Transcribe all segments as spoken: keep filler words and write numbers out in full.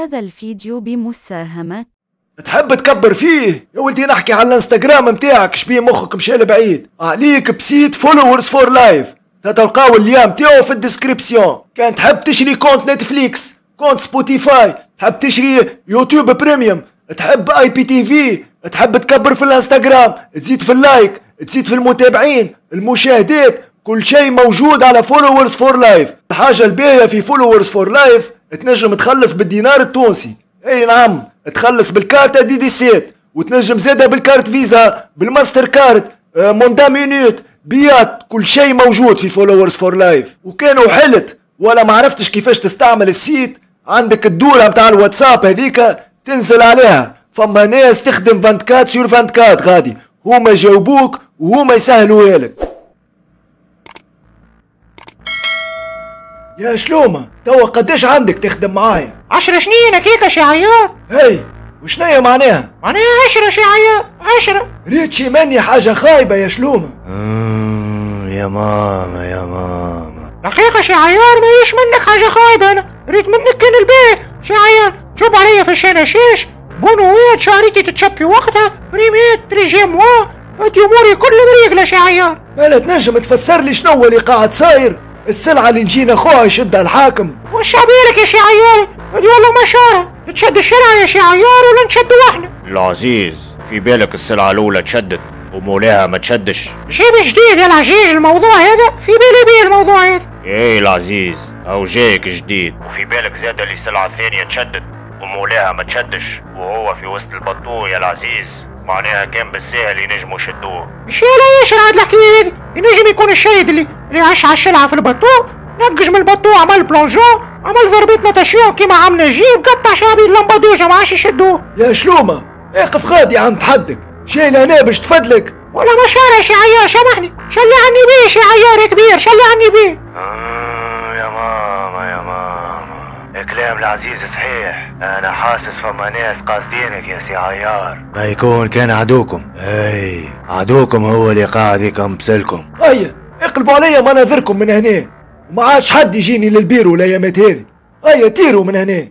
هذا الفيديو بمساهمة. تحب تكبر فيه يا ولدي؟ نحكي على الانستغرام نتاعك، شبيه مخك مشى لبعيد عليك. ب site Followers for Life تلقاو ال lien تاعو في ال description. كان تحب تشري compte Netflix، compte Spotify، تحب تشري YouTube Premium، تحب IPTV، تحب تكبر في الانستغرام، تزيد في ال like، تزيد في المتابعين، المشاهدات، كل شيء موجود على Followers for Life. الحاجة الباهيه في Followers for Life تنجم تخلص بالدينار التونسي، اي نعم، تخلص بالكارت دي dix-sept، وتنجم زاده بال carte Visa، بال Mastercard، آه، mandat minute، بيات، كل شيء موجود في Followers for Life. وكانوا حلت ولا ما عرفتش كيفاش تستعمل ال site، عندك الدورة متاع الواتساب هذيك تنزل عليها، فما ناس تخدم vingt-quatre sur vingt-quatre غادي، هما يجاوبوك وهما يسهلوها لك. يا شلومة، توا قداش عندك تخدم معايا؟ عشر سنين هكاكا شي عيار. هاي وشنيا معناها؟ معناها عشرة شي عيار، عشرة. ريتشي مني حاجة خايبة يا شلومة. يا ماما يا ماما، الحقيقة شي عيار ماهيش منك حاجة خايبة، أنا ريت منك كان الباهي شي عيار. تشوف عليا في الشناشيش، بونوات، شعريتي تتشب في وقتها، بريمات، treizième mois، هادي أموري كل مريقلة شي عيار. مالا تنجم تفسر لي شنو اللي قاعد صاير؟ السلعة اللي نجينا خوها يشدها الحاكم. وش عبالك يا شي عيار؟ هادي والله ما شارة، تشد الشرعة يا شي عيار ولا نشدو احنا؟ العزيز، في بالك السلعة الأولى تشدت ومولاها ما تشدش. جيب جديد يا العزيز الموضوع هذا، في بالي بيه الموضوع هذا. ايه العزيز، هاو جايك جديد. وفي بالك زاد اللي السلعة الثانية تشدت ومولاها ما تشدش وهو في وسط ال bateau يا العزيز، معناها كان بالساهل ينجموا يشدوه. مش لا يشرع هاد الحكاية هذي، ينجم يكون الشايد اللي اللي عاش على الشلعة في ال bateau، نقج من ال bateau، عمل plongeon، عمل ضربة natation كيما عم نجيب، قطع شعبي اللمبادوجة ما عادش يشدوه. يا شلومة، اقف غادي عند حدك، جاي لهنا باش تفدلك. ولا ما شارع شي عيار، سامحني، شلي عني بيه شي عيار يا كبير، شلي عني بيه. آه يا ماما يا ماما، كلام العزيز صحيح، انا حاسس فما ناس قاصدينك يا سي عيار. ما يكون كان عدوكم، اي عدوكم هو اللي قاعد يكمبسلكم. هيا اقلبوا عليا مناظركم من هنا، وما عادش حد يجيني للبيرو الايامات هذه. هيا تيروا من هنا.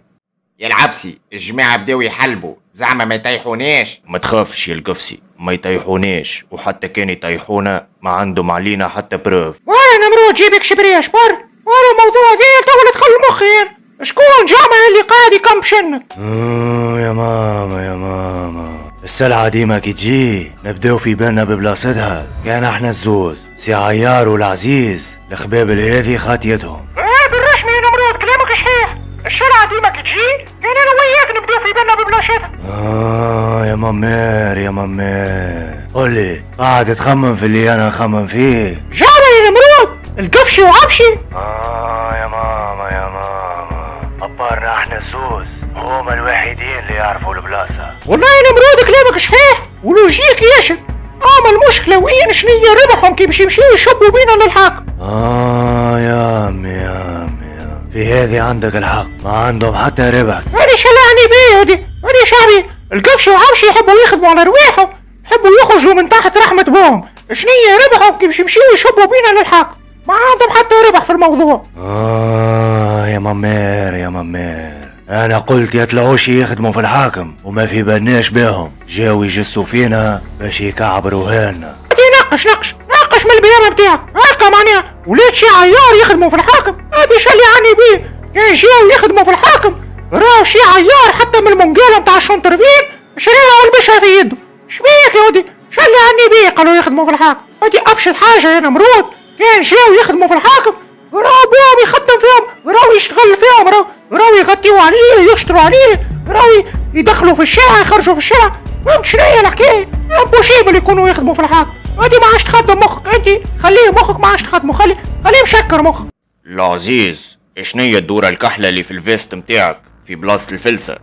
يا العبسي، الجماعة بداو يحلبوا، زعما ما يطيحوناش. ما تخافش يا القفصي، ما يطيحوناش، وحتى كان يطيحونا ما عندهم علينا حتى preuve. وانا نمرود جيبك شبريه شبر، وانا الموضوع ذا تو دخل مخي، شكون جامع اللي قاعد يكمبشن؟ آه يا ماما يا ماما، السلعة ديما كي تجي نبداو في بالنا ببلاصتها، كان احنا الزوز سي عيار والعزيز الخباب هذه خاطيتهم. ايه بالرسمي يا نمرود كلامك صحيح، السلعة ديما كي تجي كان انا وياك نبداو في بالنا ببلاصتها. آه يا مامير يا مامير، قولي قاعد تخمم في اللي انا نخمم فيه؟ جامع يا نمرود، القفشي وعبشي. آه يا ماما يا ماما، أبارنا احنا الزوز هما الوحيدين اللي يعرفوا البلاصة. والله يا نمرود كلامك صحيح و logique ياسر، اما المشكلة وين شنيا ربحهم كي باش يمشيو يشبوا بينا للحاكم. آه يا عمي يا عمي، في هذه عندك الحق، ما عندهم حتى ربح. هذه شلعني بيه هذه، هذه شعبي، القفش وعبشي يحبوا يخدموا على رواحهم، يحبوا يخرجوا من تحت رحمة بوهم، شنيا ربحهم كي باش يمشيو يشبوا بينا للحاكم، ما عندهم حتى ربح في الموضوع. آه يا مامير يا مامير، أنا قلت يطلعوش يخدموا في الحاكم وما في بالناش بهم، جاو يجسوا فينا باش يكعبروها لنا. ناقش ناقش ناقش من البيامة بتاعك، هكا معناها ولاد شي عيار يخدموا في الحاكم، هادي شلي عني بيه، كان جاو يخدموا في الحاكم راهو شي عيار حتى من المونجالة نتاع ال centre-ville شريها ولبسها في يده، شبيك يا ودي؟ شلي عني بيه قالوا يخدموا في الحاكم، هادي أبشر حاجة يا نمرود، كان جاو يخدموا في الحاكم راهو بوهم يخدم فيهم، راهو يشتغل فيهم، راهو راهو يغطيو عليه، يشتروا عليه، راهو يدخلوا في الشارع، يخرجوا في الشارع، فهمت شنو هي الحكاية؟ impossible يكونوا يخدموا في الحاكم، هادي ما عادش تخدم مخك انت، خليه مخك ما عادش تخدمه، خلي خليه مشكر مخك. العزيز، شنيا الدورة الكحلة اللي في ال veste متاعك في بلاصة الفلسة؟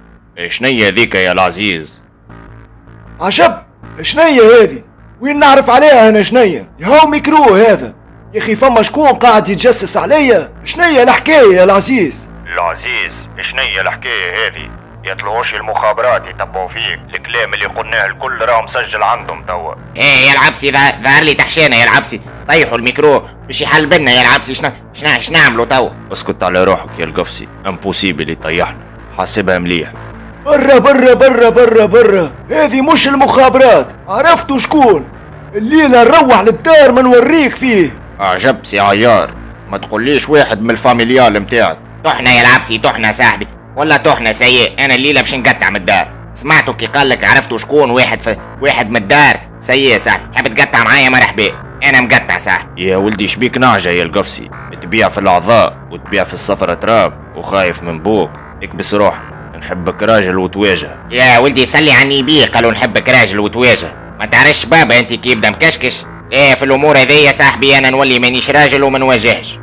شنيا ذيك يا العزيز؟ عجب، شنيا هذه؟ وين نعرف عليها انا شنيا؟ يا هو ميكرو هذا، يا اخي فما شكون قاعد يتجسس عليا؟ شنيا الحكاية يا العزيز؟ العزيز، شنيا الحكاية هذه؟ يطلعوش المخابرات يتبعوا فيك، الكلام اللي قلناه الكل راه مسجل عندهم توا. ايه يا العبسي، ظهر لي تحشينا يا العبسي، طيحوا الميكرو باش يحلبنا يا العبسي. شنا شنا شنعملوا توا؟ اسكت على روحك يا القفصي، impossible يطيحنا. حاسبها مليح. برا برا برا برا برا، هذه مش المخابرات، عرفتوا شكون؟ الليلة نروح للدار ما نوريك فيه. عجب سي عيار، ما تقوليش واحد من ال familial متاعك. طحنا يا العبسي، طحنا صاحبي، ولا طحنا سيء. انا الليلة باش نقطع من الدار. سمعتوا كي قال لك عرفتوا شكون واحد في واحد من الدار؟ سيء صاحبي، تحب تقطع معايا مرحبا، انا مقطع صاحبي. يا ولدي شبيك نعجة يا القفصي، تبيع في الاعضاء وتبيع في الصفرة تراب وخايف من بوك. اكبس روحك، نحبك راجل وتواجه. يا ولدي صلي على النبي، قالوا نحبك راجل وتواجه. ما تعرفش بابا انت كي يبدا مكشكش؟ ايه في الامور هذيا صاحبي انا نولي مانيش راجل وما نواجهش.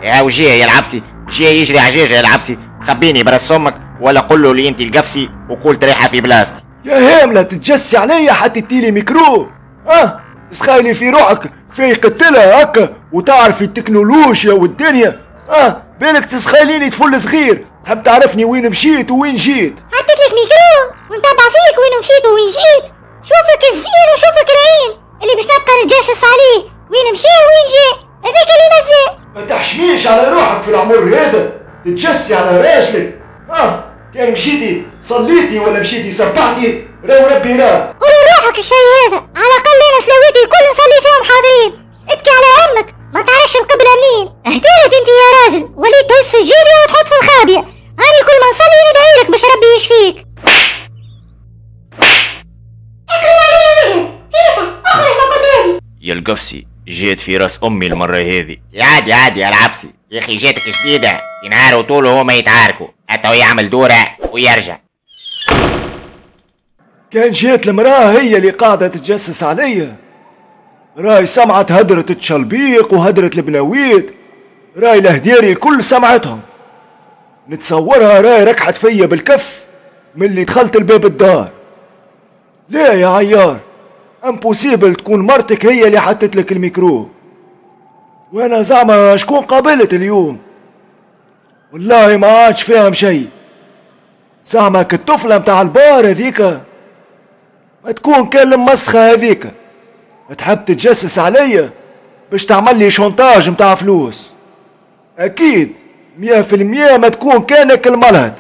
يا وجيه يا العبسي، جاي يجري عجاجه يا العبسي، خبيني براس امك ولا قول له لي انت القفصي وقول تريحه في بلاصتي. يا هامله تتجسي عليا حتى تيلي ميكرو؟ اه تسخايلي في روحك فايقتلها هكا وتعرفي التكنولوجيا والدنيا؟ اه بالك تسخايليني طفل صغير تحب تعرفني وين مشيت وين جيت؟ حطيت لك ميكرو ونتبع فيك وين مشيت وين جيت. شوفك الزين وشوفك العين اللي باش نبقى نتجشس عليه وين مشي وين جي، هذاك اللي مزال. ما تحشميش على روحك في العمر هذا تتجسي على راجلك؟ اه كان مشيتي صليتي ولا مشيتي سبحتي راهو ربي راه. قولي روحك الشيء هذا، على الاقل انا سلاويتي الكل نصلي فيهم حاضرين. ابكي على امك ما تعرفش القبلة منين. اهدرت انت يا راجل، وليت تهز في الجيبه وتحط في الخابيه. هاني كل ما نصلي ندعي لك باش ربي يشفيك. اقلب علي وجهك فيسع، اخرج من قدامي. يا القفصي جيت في راس امي المرة هذه. يا عادي عادي يا العبسي، يا اخي جاتك جديدة، في نهار وطوله هما يتعاركوا، حتى يعمل دوره ويرجع. كان جات المراة هي اللي قاعدة تتجسس عليا، راي سمعت هدرة التشلبيق وهدرة البناويت، راي الهديري الكل سمعتهم. نتصورها راي ركحت فيا بالكف من اللي دخلت الباب الدار. لا يا عيار، impossible تكون مرتك هي اللي حطت لك الميكرو. وانا زعما شكون قابلت اليوم؟ والله ما عادش فاهم شيء. زعما كالطفلة متاع البار هذيك ما تكون كان المسخة هذيك تحب تتجسس عليا باش تعمل لي chantage متاع فلوس. اكيد مية في المية ما تكون كانك الملهد.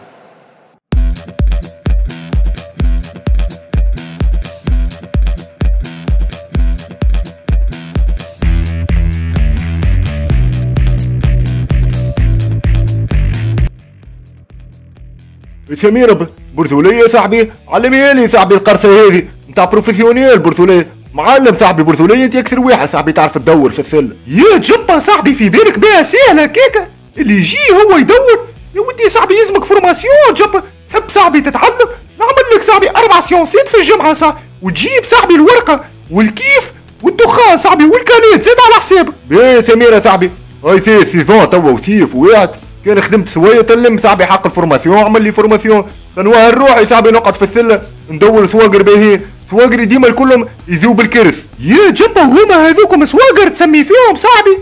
سميرة برثولية صاحبي، علميها لي صاحبي القرصة هذه نتاع professionnel برثولية، معلم صاحبي برثولية، انت اكثر واحد صاحبي تعرف تدور في السلة. يا جبا صاحبي في بالك بها سهلة كيكة، اللي يجي هو يدور. يا ودي صاحبي يلزمك formation جبا، تحب صاحبي تتعلم نعمل لك صاحبي اربع séance ات في الجمعة صاحبي، وتجيب صاحبي الورقة والكيف والدخان صاحبي والكاليت زاد على حسابك. باهي سميرة صاحبي، هاي c'est saison توا وثيف وواحد كان خدمت شوية تلم صاحبي حق ال formation، عمل لي formation تنوهر روحي صاحبي نقعد في السلة ندور سواقر باهي، سواقري ديما الكلهم يذوب الكرس. يا جبا هما هذوكم سواقر تسمي فيهم صاحبي،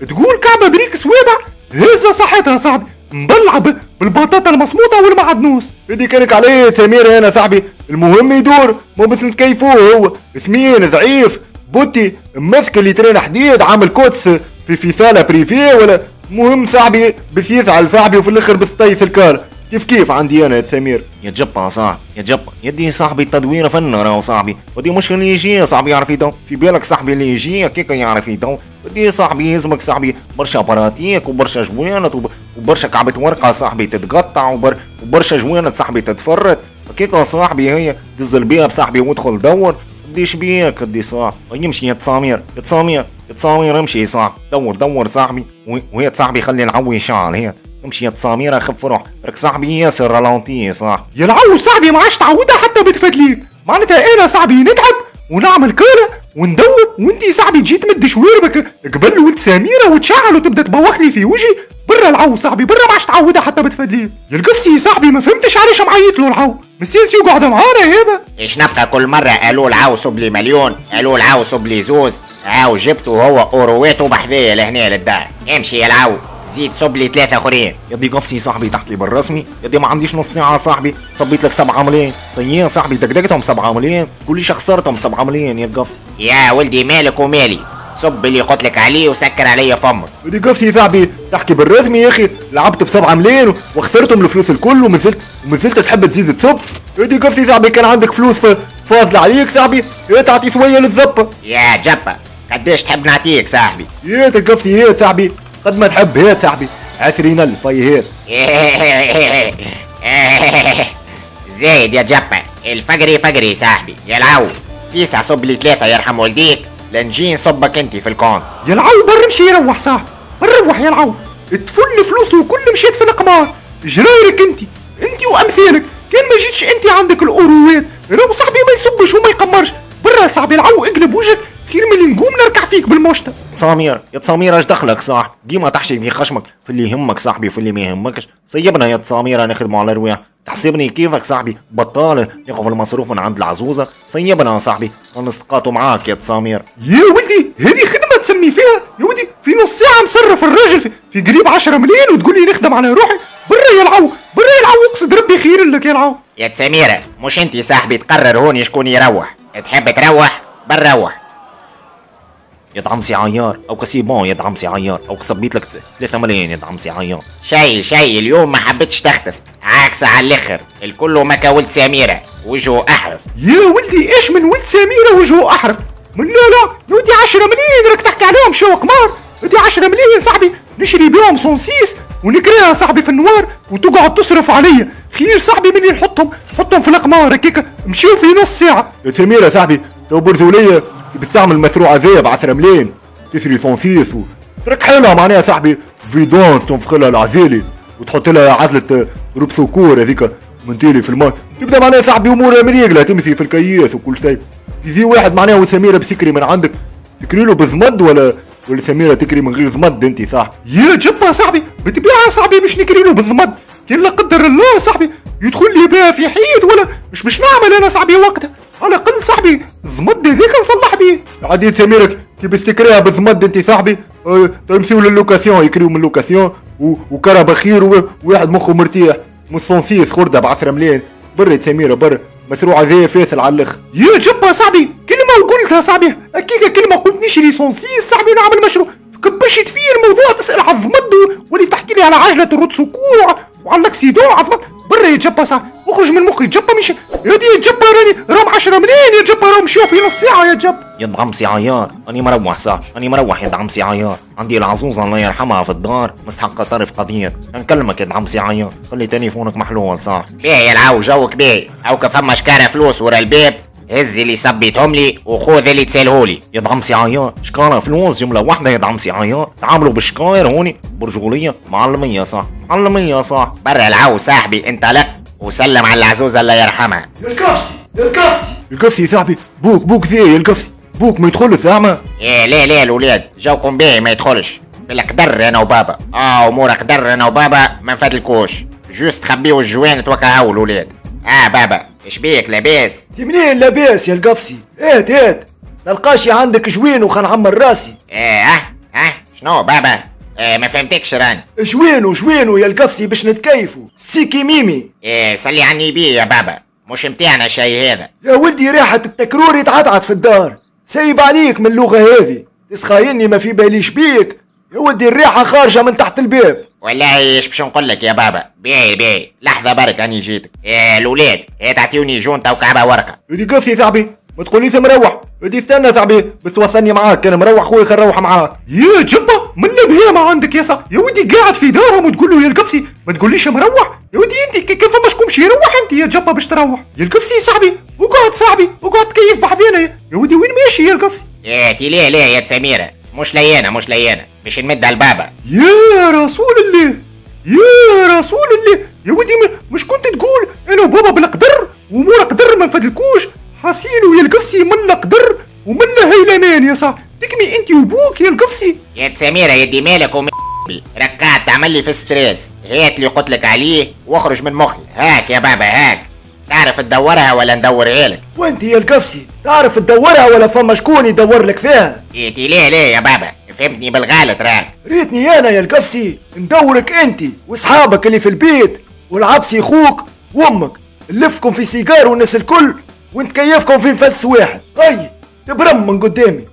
تقول كعبه بريك سوابع هزه صحتها صاحبي، مبلعه بالبطاطا المصموطه والمعدنوس. بدي كانك عليه سمير هنا صاحبي، المهم يدور مو مثل كيفوه هو ثمين ضعيف بوتي مثكل يترين حديد عامل كوتس في في salle privée ولا مهم صاحبي بس يزعل صاحبي وفي الاخر بس طيس الكار كيف كيف عندي انا يا سمير. يا جبا صاحبي يا جبا يدي صاحبي التدويره فن راهو صاحبي، ودي مش اللي يجي صاحبي يعرف يدو، في بالك صاحبي اللي يجي كيكا يعرف يدو، ودي صاحبي يلزمك صاحبي برشا pratique وبرشا جوانت وبرشا كعبة ورقة صاحبي تتقطع وبر وبرشا جوانت صاحبي تتفرت، كيكا صاحبي هي دز الباب صاحبي وادخل دور، ديش بيك دي صاحبي يمشي يا تسامير يا تسامير يا تسامير امشي صاحبي دور دور صاحبي، وهي صاحبي خلي العو يشعل هي امشي يا تسامير خف روح راك صاحبي ياسر ralenti صاحبي. يا العو صاحبي ما عادش تعودها حتى بتفدليك، معناتها انا صاحبي نتعب ونعمل كاله وندور وانتي صاحبي تجي تمد شواربك قبل ولد سميرة وتشعل وتبدا تبوخ لي في وجهي. برا العو صاحبي برا ما عادش تعودها حتى بتفدليك. يا القفصي صاحبي ما فهمتش علاش معيط له العو، مسيس يقعد معانا هذا. ايش نبقى كل مرة قالوا العو صب لي مليون، قالوا العو صب لي زوز، عاو جبته هو اورويته بحذايا لهنا للدار. امشي يا العو زيد صب لي ثلاثة اخرين. يا دي قفصي صاحبي تحكي بالرسمي، يا دي ما عنديش نص ساعة صاحبي، صبيت لك سبعة ملايين، سيئة صاحبي دقدقتهم سبعة ملايين، كلش خسرتهم سبعة ملايين يا قفصي. يا ولدي مالك ومالي، صب اللي قلت لك عليه وسكر عليا فمك. ودي قفتي صاحبي تحكي بالرسمي يا اخي، لعبت بسبعة ملايين وخسرتهم الفلوس الكل ومازلت ومازلت تحب تزيد تصب. ودي قفتي صاحبي كان عندك فلوس فاضلة عليك صاحبي يا تعطي شوية للزبه. يا جبه قداش تحب نعطيك صاحبي؟ يا تقفتي يا صاحبي قد ما تحب يا صاحبي عشرين ألف هي هات. زايد يا جبه، الفقري فقري صاحبي. يا العو فيسع صب لي ثلاثة يرحم والديك لنجي نصبك انت في ال compte. يا العو بر مشي يروح صاحبي، بر روح يا العو، تفل فلوسه وكل مشيت في القمار. جرايرك انت انت وامثالك، كان ما جيتش انت عندك الاوروات راهو صاحبي ما يصبش وما يقمرش. برا صاحبي العو اقلب وجهك خير من اللي نقوم نركع فيك بالمشطه. سمير يا سمير اش دخلك صاحبي؟ ديما تحشي في خشمك في اللي يهمك صاحبي وفي اللي ما يهمكش. سيبنا يا سمير نخدموا على رواح، تحسبني كيفك صاحبي بطال ناخذ المصروف من عند العزوزه؟ سيبنا يا صاحبي نسقاطوا معاك يا سمير. يا ولدي هذه خدمة تسمي فيها يا ولدي؟ في نص ساعة مصرف الراجل في, في قريب عشرة مليون وتقول لي نخدم على روحي؟ برا يا العو برا يا العو اقصد ربي خير لك يا العو. يا سميرة مش انت صاحبي تقرر هوني شكون يروح، تحب تروح بنروح. يا دعمسي عيار او c'est bon، يا دعمسي عيار او صبيت لك ثلاثة ملايين يا دعمسي عيار. شي شي اليوم ما حبيتش تختف عكس على الاخر، الكل مكا ولد سميرة وجهه احرف. يا ولدي ايش من ولد سميرة وجهه احرف؟ من لا لا يا ولدي عشرة ملايين راك تحكي عليهم شو قمار؟ ودي عشرة ملايين صاحبي نشري بيهم cent six ونكريها صاحبي في النوار وتقعد تصرف عليا، خير صاحبي مني نحطهم نحطهم في القمار هكاك مشيو في نص ساعة. يا سميرة صاحبي تو برزوليه بتستعمل المشروع هذايا ب عشرة ملايين تشري cent six و تركحلها معناها صاحبي vidange تنفخ لها العزيلي وتحط لها عزله roue de secours هذيك من تالي في الماء، تبدا معناها صاحبي امورها مريقله تمشي في الكياس وكل شيء. يجي واحد معناها وسميره بسكري من عندك تكري له بزمد ولا ولا سميرة تكري من غير زمد انت صاحبي؟ يا جبه صاحبي بالطبيعة صاحبي باش نكري له بالزمد، كان لا قدر الله صاحبي يدخل لي بها في حيط ولا مش باش نعمل انا صاحبي وقتها، على الاقل صاحبي الزمد هذاك نصلح بيه. عادي سميرك كي باش تكريها بالزمد انت صاحبي اه تمشيو لل location يكريو من ال location وكرهبه خير وواحد مخه مرتاح مش cent six خرده ب عشرة ملايين. برا سميرة برا مشروع هذايا فاصل على الاخر. يا جبه صاحبي كلمة وقلتها صاحبي هكاك كلمة قلت نشري cent six صاحبي ونعمل مشروع، كبشت فيه الموضوع تسال على الضمد ولي تحكي لي على عجله ال roue de secours وعلى l'accident عظمت. برا يا جبه صاحبي اخرج من مخي جبه مش يا دي جبه راني راهم عشرة ملايين يا جبه راهم مشاو في نص ساعة يا جبه. يا دعمسي عيار اني مروح صح اني مروح يا دعمسي عيار، عندي العزوزه الله يرحمها في الدار مستحقه طرف قضية، نكلمك يا دعمسي عيار خلي تليفونك محلول صح. باهي يا العو جوك باهي، او فما شكاره فلوس ورا الباب هز اللي صبيتهم لي وخذ اللي تسالهولي. يا دعمسي عيار شكاره فلوس جملة واحدة يا دعمسي عيار، تعاملوا بالشكاير هوني برجولية معلميه صح معلميه صح. برا العو صاحبي انطلق وسلم على العزوزه الله يرحمها. يا الكفسي يا الكفسي الكفسي صاحبي بوك بوك ذي يا الكفسي بوك ما يدخلش زعما. ايه ليه ليه الولاد جوكم باهي ما يدخلش بالقدر انا وبابا، اه امور قدر انا وبابا ما نفدلكوش، juste خبيو الجوان توكاهو الولاد. اه بابا اش بيك لاباس؟ تي منين لاباس يا القفصي؟ هات هات نلقاشي عندك جوين وخنعمر راسي. ايه اه اه شنو بابا؟ إيه ما فهمتكش راني. جوينو جوينو يا القفصي باش نتكيفو سيكي ميمي. إيه صلي عني بيه يا بابا مش متاعنا الشي هذا. يا ولدي ريحة التكرور يتعطعط في الدار، سايب عليك من اللغة هذه، تسخايني ما في باليش بيك يا ولدي الريحة خارجة من تحت الباب. والله ايش باش نقول لك يا بابا؟ باهي باهي لحظة برك راني جيتك. إيه الولاد إيه تعطيوني جونتا وكعبة ورقة. ودي قفصي صاحبي ما تقوليش مروح، ودي استنى صاحبي بس توصلني معاك، كان مروح خويا خل نروح معاك. يا جبه من البهيمة عندك يا صاحبي يا ودي قاعد في دارهم وتقول له يا القفصي ما تقوليش مروح، يا ودي انت كيف فما شكون مشي يروح انت يا جبه باش تروح. يا القفصي صاحبي اقعد صاحبي اقعد تكيف بحذانا يا ودي وين ماشي يا القفصي؟ إيه تي ليه ليه يا سميرة مش ليانا مش ليانا مش نمدها لبابا. يا رسول الله يا رسول الله يا ودي مش كنت تقول انا وبابا بالقدر ومور قدر ما نفدلكوش؟ حاسيلو يا القفصي من قدر ومن هيلمان يا صاحبي تكمي انت وبوك يا القفصي. يا سميرة يا دي مالك وم ركعت تعمل لي في stress، هات اللي قلت لك عليه واخرج من مخي. هاك يا بابا هاك، تعرف تدورها ولا ندورها لك؟ وانت يا القفصي تعرف تدورها ولا فما شكون يدور لك فيها؟ إيه ليه ليه يا بابا فهمتني بالغلط راك. ريتني انا يا القفصي ندورك انت وصحابك اللي في البيت والعبسي خوك وامك، نلفكم في سيجار والناس الكل ونتكيفكم في نفس واحد. اي تبرم من قدامي.